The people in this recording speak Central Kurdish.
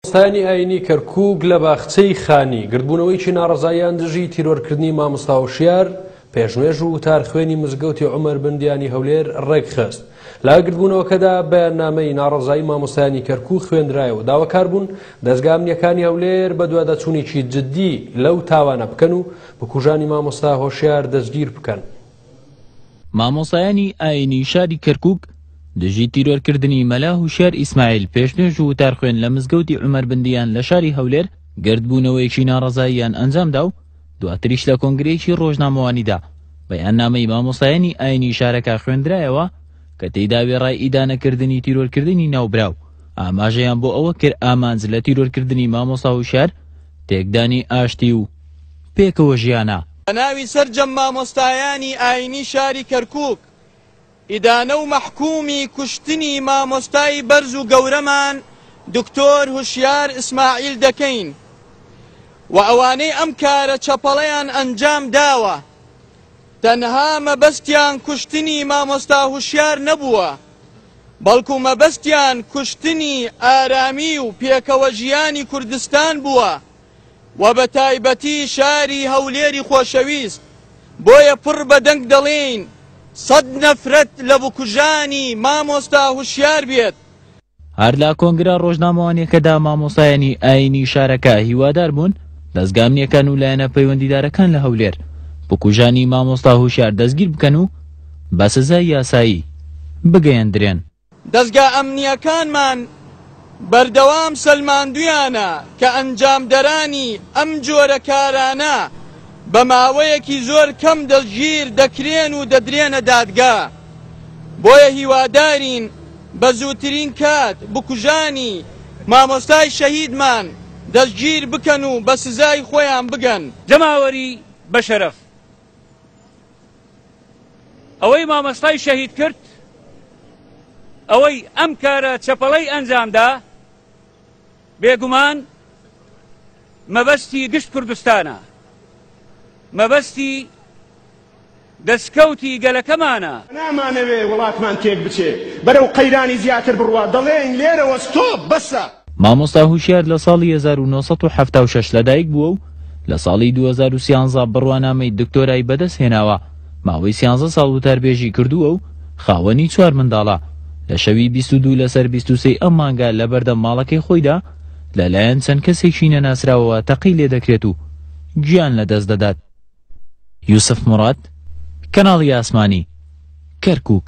مامۆستایانی ئایینی کەرکووک لە باخچەی خانی گردبوونەوەیەکی ناڕەزاییان دژی تیرۆرکردنی مامۆستا هۆشیار پێشنوێژ و وتارخوێنی مزگەوتی عومەر بندیانی هەولێر ڕێکخست. لە گردبوونەوەکەدا بەیاننامەی ناڕەزایی مامۆستایانی کەرکووک خوێندرایەوە و داواکار بوون دەزگا ئەمنییەکانی هەولێر بەدواداچوونێکی جددی لەو تاوانە بکەن و بکوژانی مامۆستا هۆشیار دەستگیر بکەن. مامۆستایانی ئایینی شاری کەرکوک دژی تیرۆرکردنی مەلا هوشیار ئیسماعیل پێشنوێژ و وتارخوێن لە مزگەوتی عومەر بندیان لە شاری هەولێر گردبوونەوەیەکی ناڕەزاییان ئەنجامدا و دواتریش لە کۆنگرەیەکی ڕۆژنامەوانیدا بەیاننامەی مامۆستایانی ئایینی شارەکە خوێندرایەوە کە تێیدا وێڕای ئیدانەکردنی تیرۆرکردنی ناوبراو ئاماژەیان بۆ ئەوە کرد ئامانج لە تیرۆرکردنی مامۆستا هوشیار تێکدانی ئاشتی و پێکەوە ژیانە. بە ناوی سەرجەم مامۆستایانی ئاینی شاری کەرکوک ئیدانە و مەحکومی کوشتنی مامۆستای بەرز و گەورەمان دکتۆر هوشیار ئیسماعیل دەکەین و ئەوانەی ئەم کارە چەپەڵەیان ئەنجام داوە تەنها مەبەستیان کوشتنی مامۆستا هوشیار نەبووە بەڵکو مەبەستیان کوشتنی ئارامی و پێکەوە ژیانی کوردستان بووە و بە تایبەتی شاری هەولێری خۆشەویست، بۆیە پڕ بە دەنگ دەڵێین سەد نەفرەت لە بکوژانی مامۆستا هوشیار بێت. هەر لە کۆنگرە ڕۆژنامەوانیەکەدا مامۆستایانی ئایینی شارەکە هیوادار بوون دەزگا ئەمنیەکان و لایەنە پەیوەندیدارەکان لە هەولێر بکوژانی مامۆستا هوشیار دەستگیر بکەن و بە سزای یاسایی بگەیەندرێن. دەزگا ئەمنییەکانمان بەردەوام سەلماندویانە کە ئەنجامدەرانی ئەم جۆرە کارانە بە ماوەیەکی زۆر کەم دەستگیر دەکرێن و دەدرێنە دادگا، بۆیە هیوادارین بە زووترین کات بکوژانی مامۆستای شەهیدمان دەستگیر بکەن و بە سزای خۆیان بگەن. جەماوەری بەشەرەف ئەوەی مامۆستای شەهید کرد، ئەوەی ئەم کارە چەپەڵەی ئەنجامدا، بێگومان مەبەستی گشت کوردستانە، مەبەستی دەستکەوتی گەلەکەمانە. نامانەوێ وڵاتمان تێکبچێ، بەرەو قەیرانی زیاتر بڕوا، دەڵێین لێرەوە ستۆپ، بەسە. مامۆستا هوشیار لە ساڵی 1976 لەدایک بووە و لە ساڵی 2013 بڕوانامەی دکتۆرای بەدەست هێناوە، ماوەی سیانزە ساڵ وتاربێژی کردووە و خاوەنی چوار منداڵە. لە شەوی 22 لەسەر 23 ئەم مانگە لەبەردەم ماڵەکەی خۆیدا لەلایەن چەند کەسێکی نەناسراوەوە تەقەی لێدەکرێت و گیان لەدەست دەدات. یوسف موراد، کەناڵی ئاسمانی، کەرکوک.